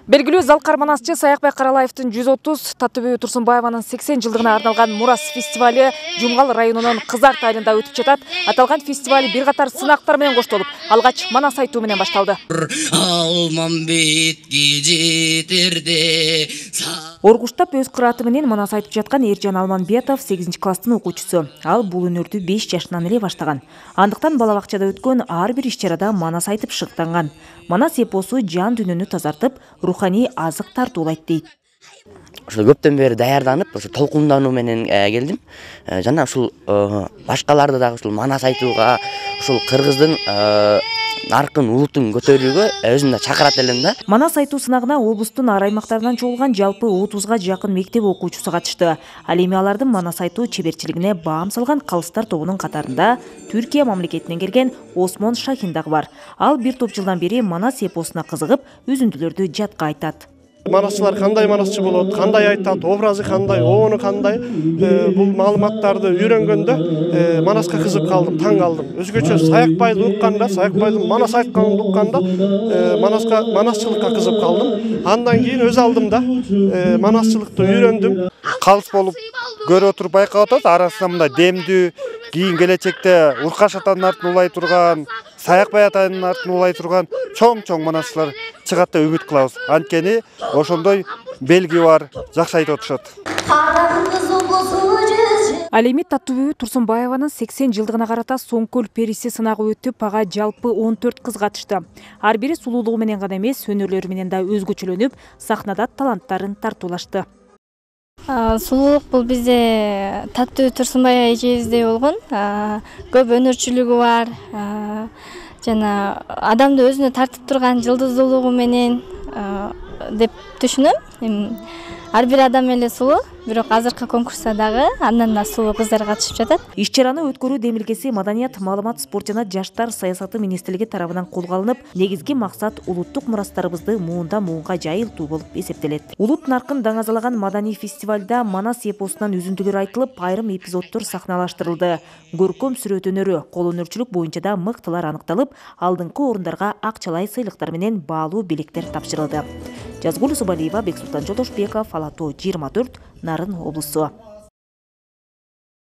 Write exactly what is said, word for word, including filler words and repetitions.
Белгилүү залкар манасчы Саякбай Каралаевдин жүз отуз, Таттыбүбү Турсунбаеванын сексен жылдыгына арналган Мурас фестивали Жумгал районунун Кызарт айылында өтүп жатат. Аталган фестиваль бир катар сынактар менен коштолуп, алгач манас айтуу менен башталды. Оргуштап өз кырааты менен манас айтып жаткан Эржан Алманбетов сегизинчи класстын окуучусу. Ал бул өнөрдү беш жашынан эле баштаган. Андыктан бала бакчада өткөн ар бир иш-чарада манас айтып шыктанган. Манас эпосу жан дүйнөнү тазартып, руханий азык тартуулайт дейт. Ошо көптөн бери даярданып, ошо толкундануу менен келдим. Жана ушул башкаларды дагы ушул манас айтууга, ушул кыргыздын наркын, улутун көтөрүүгө өзүм да чакырат элем да. Манас айтуу сынагына облустун ар аймактарынан чогулган жалпы отузга жакын мектеп окуучусу катышты. Ал эми алардын манас айтуу чеберчилигине баам салган калыстар тобунун катарында Түркия мамлекетинен келген Осмон Шахин дагы бар. Ал бир топ жылдан бери манас эпосуна кызыгып, үзүндүлөрдү жатка айтат. Манасчылар кандай манасчы болот, кандай айтат, образы кандай, обону кандай, бул маалыматтарды үйрөнгөндө манаска кызык калдым, таң калдым. Өзгөчө Саякбайды укканда, Саякбайдын манас айтканын укканда манаска, манасчылыкка кызык калдым. Андан кийин өз алдымда манасчылыкты үйрөндүм. Калыс болуп көрө туруп байкап атат, арасында мындай демдүү, кийин келечекте Уркаш атанын артын улай турган, Саякбай атанын артын улай турган чоң-чоң манасчылар чыгат деп үмүт кылабыз. Анткени ошондой белги бар, жакшы айтып атышат. Ал эми Таттыбүбү Турсунбаеванын сексен жылдыгына карата Соңкөл периси сынагы өтүп, ага жалпы он төрт кыз катышты. Ар бири сулуулугу менен гана эмес, өнөрлөрү менен да өзгөчөлөнүп, сахнада таланттарын тартуулашты. Сулуулук бул бизде Таттыбүбү Турсунбаева эжебизде болгон. Көп өнөрчүлүгү бар. Жана адамды өзүнө тартып турган жылдыздуулугу менен деп түшүнөм. Ар бир адам эле сулуу, бирок азыркы конкурста дагы андан да сулуу кыздар катышып жатат. Иш-чараны өткөрүү демилгеси Маданият, маалымат, спорт жана жаштар саясаты министрлиги тарабынан колго алынып, негизги максат улуттук мурастарыбызды муундан муунга жайылтуу болуп эсептелет. Улут наркын даңазалаган маданий фестивалда манас эпосунан үзүндүлөр айтылып, айрым эпизоддор сахналаштырылды. Көркөм сүрөт өнөрү, кол өнөрчүлүк боюнча да мыктылар аныкталып, алдыңкы орундарга акчалай сыйлыктар менен баалуу белектер тапшырылды. Жазгул Субалиева, Бексултан Жолдошбеков, Ала тоо жыйырма төрт, Нарын облусу.